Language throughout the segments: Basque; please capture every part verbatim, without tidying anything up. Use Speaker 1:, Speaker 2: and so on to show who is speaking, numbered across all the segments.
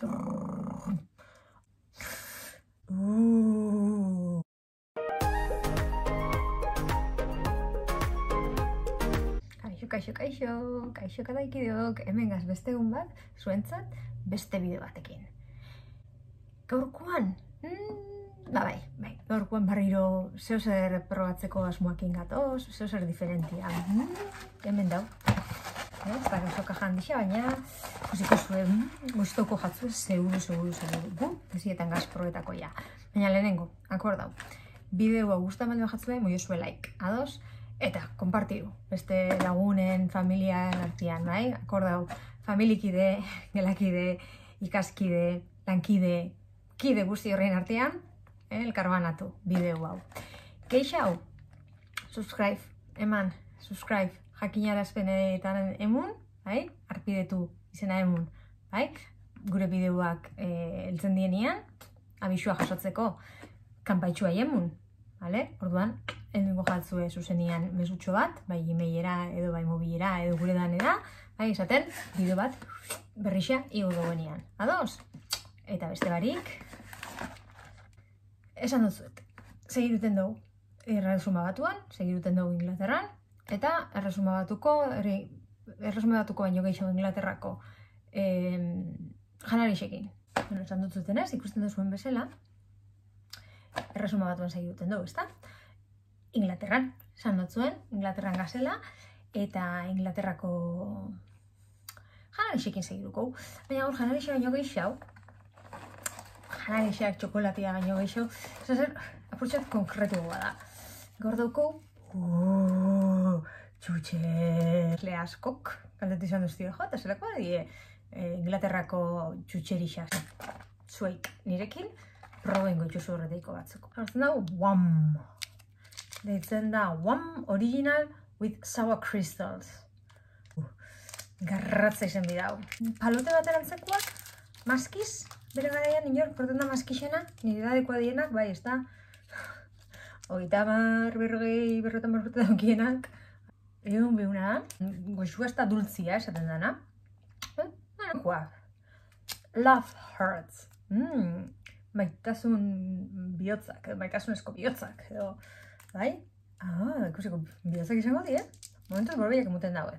Speaker 1: Uh. Kaixo, kaixo, kaixo, kaixo kadaikideok, hemen gaz beste egun bat, zuentzat beste bideo batekin. Gaurkoan, mm, ba bai, bai, gaurkoan barriro zeo zer probatzeko asmoakin gatoz, zeo zer diferentia. Mm, hemen dau. Ez da gazo kajan dixa, baina ikusiko zuen guztoko jatzu seguru, seguru, seguru. Bu, ezietan gaz probetako ja. Baina lehenengo, akordau. Bideoa gustatzen baldin jatzue, moio zue like, ados? Eta, konpartidu, beste lagunen, familiaren artean, bai? Akordau, familikide, gelakide, ikaskide, lankide, kide guzti horrein artean, eh, elkarbanatu bideo hau. Keixa hau, subscribe, eman, subscribe, jakinarazpenetan emun, bai? Arpidetu izena emun, bai? Gure bideoak eh, eltzen dienean, abisua jasotzeko kanpaitxua emun, vale? Orduan, egingo jatzue zuzenian mesutxo bat, bai emailera edo bai mobilera edo gure danera, bai esaten, bideo bat berrixa igo gobenean. Ados? Eta beste barik, esan dutzuet, segiruten dugu erresuma batuan, segiruten dugu Inglaterran, eta erresuma batuko, erresuma batuko baino gehiago Inglaterrako eh, janarixekin. Bueno, esan dutzuten ez, ikusten duzuen bezala, erresuma batuan segiruten dugu, ezta? Inglaterran, esan dutzuen, Inglaterran gazela, eta Inglaterrako janarixekin segiruko. Baina gaur janarixe baino gehiago, janarixeak txokolatia baino gehiago, zer, apurtxat konkretu da. Gaur dauko, uuuu, txutxerle askok, kaldetu izan duztio jo, eta zelako die Inglaterrako txutxerixaz. Zueik nirekin, probengo itxuzu horreteiko batzuk. Hartzen dago, Wham! Deitzen da Wham! Original with sour crystals. Uh, garratza izan bidau. Palote bat erantzekoak, maskiz, bere garaian inor, porten da maskixena, nire dadekoa dienak, bai, ez da. Hogeita mar, berrogei, berrotan berrote daukienak. Egun behuna da, goizua ez da dultzia esaten dana. Eh? Nanakoa. Love hurts. Mm. Maitasun bihotzak, maitasunezko bihotzak, edo, bai? Ah, ikusiko bihotzak izango die, momentuz borbeiak emuten daue.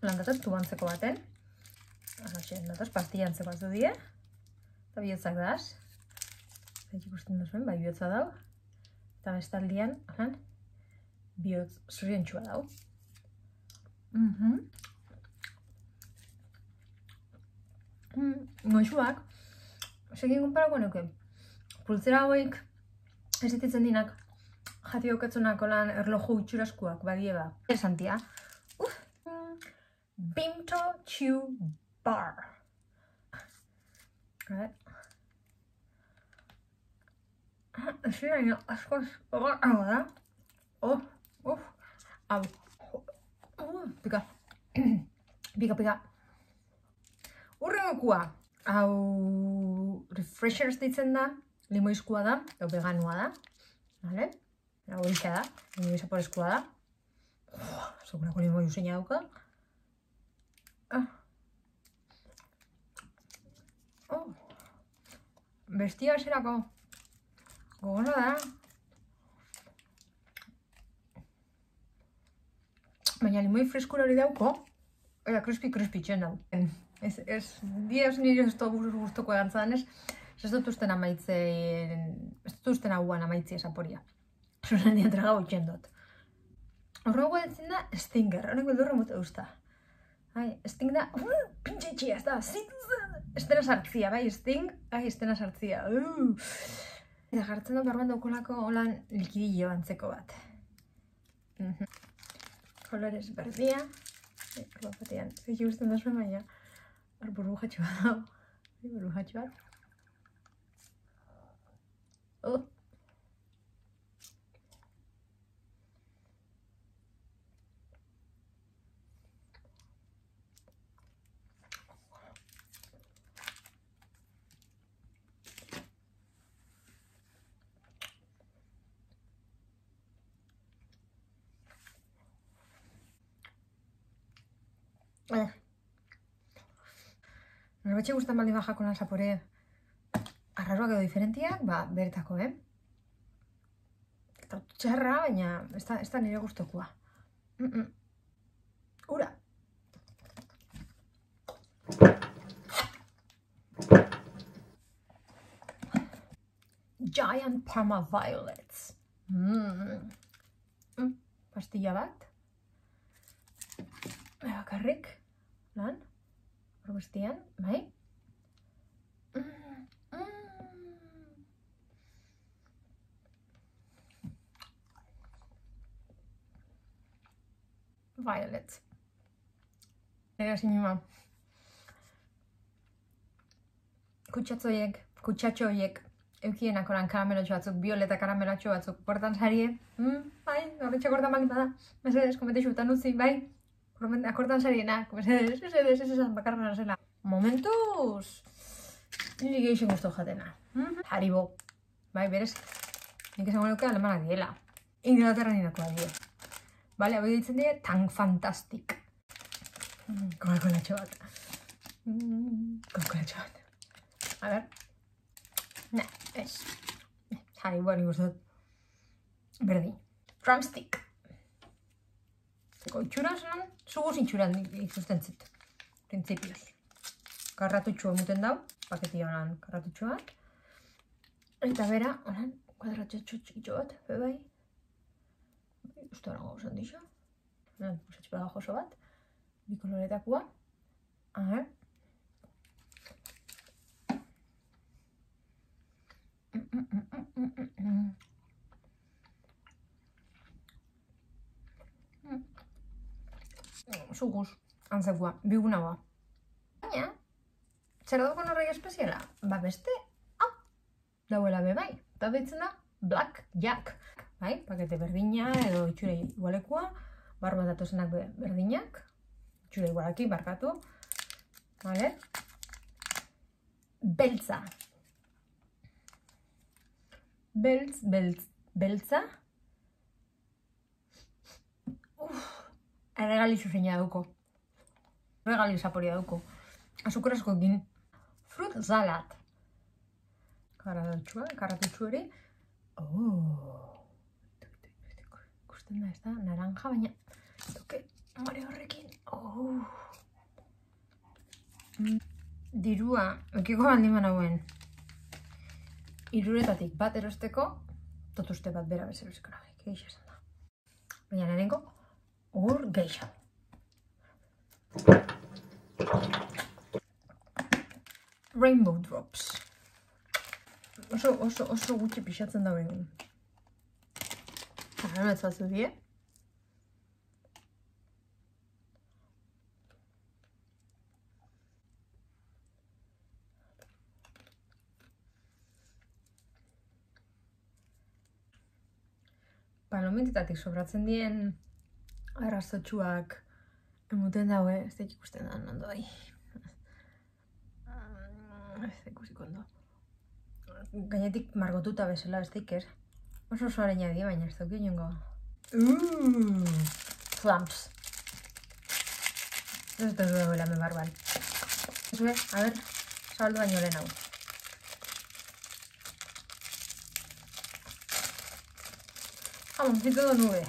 Speaker 1: Landatoz tubantzeko baten, ahoxe, datoz pastillantzeko batzu die, eta bihotzak daz. Eta ikusten duzuen, bai bihotza dau, eta bestaldian, ahan, bihotz zurientxua dau. Mhm. Mm, goixuak, segin konparako nuke, pultzera hauek ez dititzen dinak, jati daukatzunak olan erloju itxuraskuak badieba. Esantia. Uf! Bimto Chew Bar. Ez dira, askoz, hau da. Oh, uf, hau. Pika. Pika, pika. Urrengokua. Hau refreshers ditzen da, limoizkoa da, edo veganua da. Vale? Hau horixa da, limoizaporezkoa da. Segurako limoi useina dauka. Ah. Oh. Bestia eserako. Gogona da. Baina limoi freskura hori dauko, eta crispy-crispy txen dau. Ez, ez, diez nire ez guztoko egantzadan ez, ez dut usten amaitzen, ez dut usten hauan amaitzi esaporia. Zuzen dian traga utxen dut. Horrego ditzen da Stinger, honek beldurra mote duzta. Sting da, uh, pintxe itxia, ez da, estena sartzia, bai, Sting, bai, estena sartzia. Uh. Eta jartzen dut barban daukolako holan likidillo antzeko bat. Uh -huh. Kolorez berdia, horba batean, zeki guztien da zuen baina. Hor burbujatxo bat hau, burbujatxo bat. Oh! Pero betxe gustan baldin bajako lan zapore arraroak edo diferentiak, ba, beretako, eh? Eta txarra, baina ez da, ez da nire gustokoa. Mm -mm. Ura! Giant Parma Violets. Mm. Mm. Pastilla bat. Bakarrik. Lan. Hor guztian, bai? Mm. Mm. Violet. Ega sinima. Kutsatzoiek, kutsatxoiek, eukienak oran karamelotxo batzuk, violeta karamelotxo batzuk, portan sarie, mm, bai, horretxak hortan bali bada, mesedes, kometexu eta nutzi, bai, akortan sarienak, mesedes, mesedes, ez esan bakarra zela. Momentuz, nire geixen guztu jatena. Mm? Haribo, bai, berez, nik esango nuke alemanak diela. Inglaterra nirakoa die. Bale, hau ditzen die, tan fantastik. Mm, Coca-Colatxo bat. Mm, Coca-Colatxo bat. A ver. Ne, ez. Haribo, nik guztut. Berdin. Drumstick. Zeko itxuraz, non? Zuguz itxuraz ikusten zit. Principios. Karratutxo emuten dau. Paketi honan karratutxo bat. Eta bera, honan, kuadratxo txikitxo bat, bebai. Uste hori gauzan dixo. Usatxe pegajoso bat. Bi koloretakua. A ver. Zuguz, antzekua, bigunagoa. Baina, zer dago norrei espeziala? Ba beste, hau, dauela bebai. Eta deitzen da, Black Jack. Bai, pakete berdina edo itxure igualekua. Barba datozenak berdinak. Itxure igualaki, barkatu. Vale. Beltza. Beltz, beltz, beltza. Uff, erregali zuzeina duko. Erregali zaporia duko. Azukrazko egin. Fruit salad. Karatutxua, karatutxu hori. Oh. Ikusten da, ez da, naranja, baina toke mare horrekin. Oh. Dirua, ekiko baldin banagoen. Iruretatik bat erosteko, totuzte bat bera bezeruziko nahi, geixa esan da. Baina lehenengo, ur geixa. Rainbow Drops. Oso, oso, oso gutxi pixatzen da behin. Ara, ez batzu die. Palomitetatik sobratzen dien arrazotxuak emuten daue, ez da ikusten da ondo bai. Ez da ikusiko ondo. Gainetik margotuta bezala ez da iker. Oso oso areina di, baina ez da uki niongo. Uuuu! Flumps. Ez da duela me barban. Ez be, a ber, zabaldu baino lehen hau. Jamoncito de nube.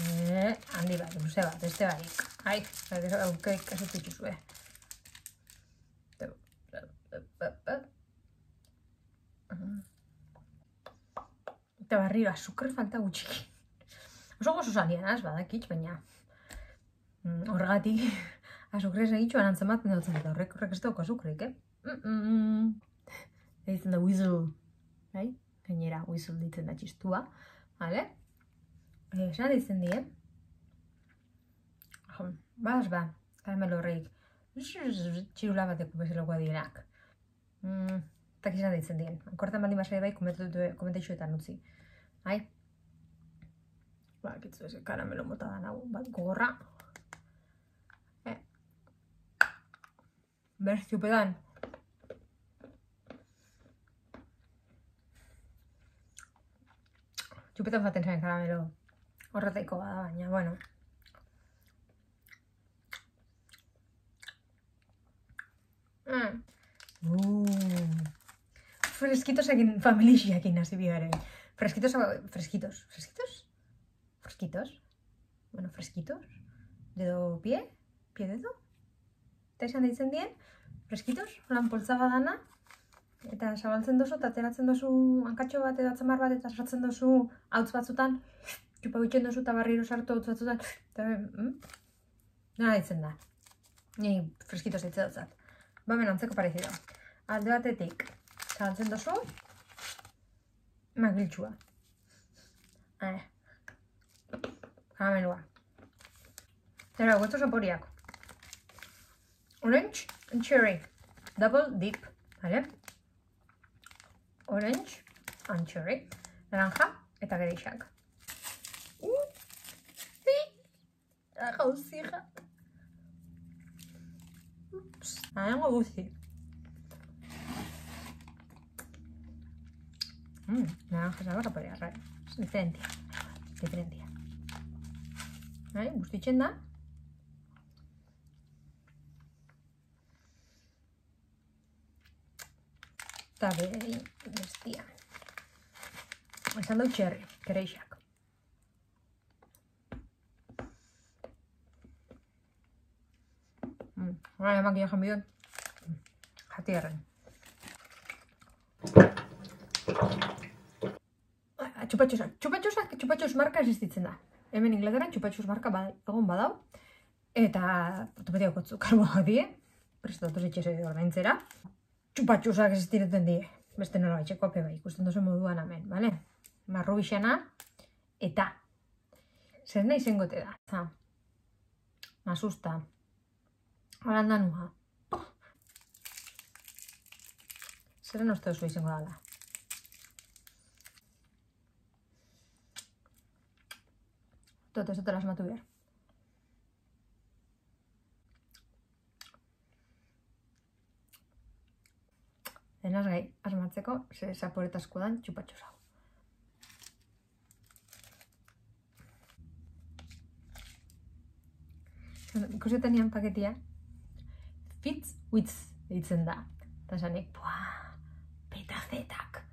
Speaker 1: Eh, handi bat, luze bat, beste barik. Ai, aukei kasut dituzue. Eta barriro, azukar falta gutxiki. Oso gozo zalian, az, badakitz, baina horregatik azukrez egitxuan antzematen dutzen eta horrek horrek ez dauko azukrik, eh? Ditzen da whistle, bai? Gainera, whistle ditzen da txistua, bale? Esan ditzen dien. Baz, ba, karamelo horreik. Txirula bateko bezelokoa dienak. Eta kizan ditzen dien. Kortan baldin basai bai, komentetxuetan utzi. Hai? Ba, kitzu ez karamelo mota da nago, bat gogorra. Bez, txupedan. Txupetan faten zaren karamelo. Horretaiko bada, baina, bueno. Mm. Uh. Freskitosekin familixiakin hasi bigaren. Freskitos, freskitos, freskitos? Freskitos? Bueno, freskitos? Dedo pie? Pie dedo? Eta izan deitzen dien, freskitos, lan poltzaga dana, eta zabaltzen dozu, eta ateratzen dozu hankatxo bat edo atzamar bat, eta sartzen dozu hautz batzutan, txupa bitxen dozu eta barriro sartu hautz batzutan, eta mm? Nola deitzen da. Ni freskitos ditze dutzat. Ba, hemen antzeko parezido. Alde batetik, zabaltzen dozu, magiltxua. Eh. Karamelua. Zera, guesto saporiak. Orange and cherry. Double dip. ¿Vale? Orange and cherry. Naranja eta gereixak. Uh! Sí! Naranja uzija. Ups. Naranja guzti. Mmm, naranja salva saporea, rai. Es diferentia. Diferentia. ¿Vale? Guztitzen da. Eta beri bestia. Esan dau txerri, gereixak. Mm. Hora emak ia janbidon. Jati erren. Txupatxosak. Txupatxosak, txupatxos marka existitzen da. Hemen Inglaterran txupatxos marka egon badau. Eta ortopedia kotzu karboak die. Prestatu zetxese ordaintzera. Txupatxosak existiretzen die. Beste nola etxeko ape bai, ikusten dozu moduan hemen, bale? Marru bixana eta zer nahi zengote da. Za. Masusta. Arandanua. Zeren uste duzu izango dala. Toto, ez dut asmatu behar. Denaz gai, asmatzeko, ze zaporetazko dan txupatxos hau. Ikusetan nian paketia, Fits Wits ditzen da. Eta zanik, buah, petazetak.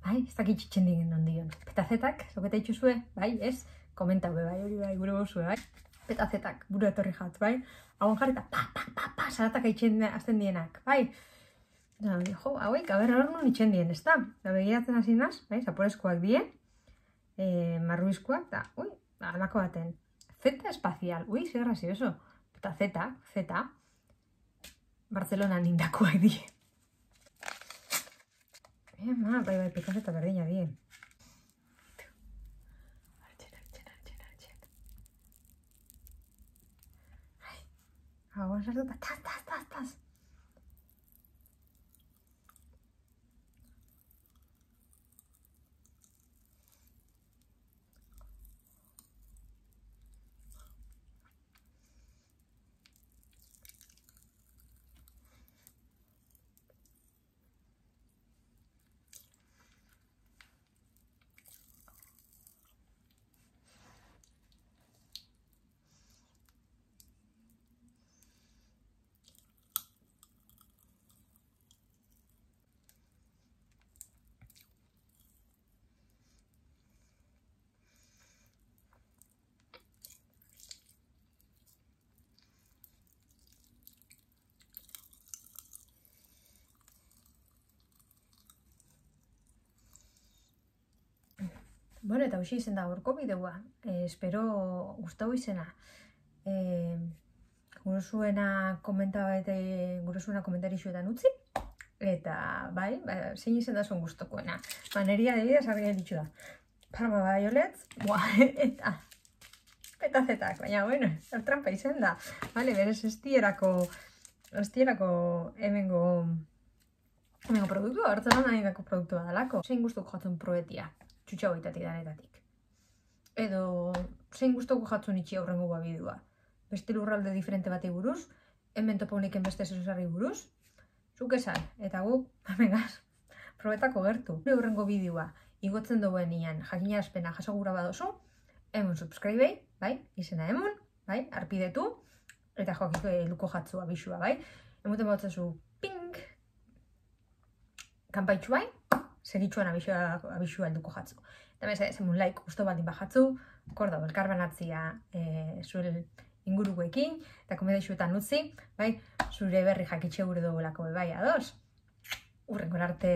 Speaker 1: Bai, ez dakit txitzen digen ondion. Petazetak, zoketa itxuzue, bai, ez? Komentau be, bai, hori bai, gure gozue, bai? Petazetak, buru etorri jat, bai? Hauan jarri eta pa, pa, pa, pa, zaratak aitzen azten dienak, bai? Jo, hauek, aber hor nun itxen dien, ez da? Da begiratzen hasi naz, bai, zaporezkoak die, e, marruizkoak, da, ui, alako baten. Zeta espazial, ui, zer grazioso. Eta zeta, zeta, Barcelona nindakoak die. Eh, ma, bai, bai, pikazeta berdina die. Artxen, artxen, artxen, artxen. Ai, hauan sartu eta taz, taz, taz, taz. Bueno, eta hoxe izen da gorko bideoa. Eh, espero gustau izena. Eh, gure zuena komentarixuetan utzi. Eta, bai, ba, zein izen da zuen gustokoena. Ba, neri adibidez argi ditxu da. Parma baioletz, buah, eta petazetak, baina, bueno, zer trampa izen da. Vale, berez estierako, estierako hemengo, hemengo produktua, hartzen da nahi dako produktua dalako. Zein gustoko jatzen probetia. Txutxa goitatik danetatik. Edo, zein gustoko jatzun itxi aurrengo babidua. Beste lurralde diferente bati buruz, hemen topa uniken beste zesarri buruz, zuk esan, eta guk, amengaz, probetako gertu. Aurrengo bideoa, igotzen duen ian jakinarazpena jasogura badozu, hemen subscribei, bai, izena hemen, bai, arpidetu, eta joakiko luko jatzua bisua, bai. Hemoten bautzazu, ping! kanpaitxu bain, segitxuan abisu alduko jatzu. Eta meze, zemun laik usto baldin bajatzu, kordo, elkarbanatzia e, zure ingurukoekin, eta komedeixuetan utzi, bai, zure berri jakitxe gure dugulako bai ados. Urrengo arte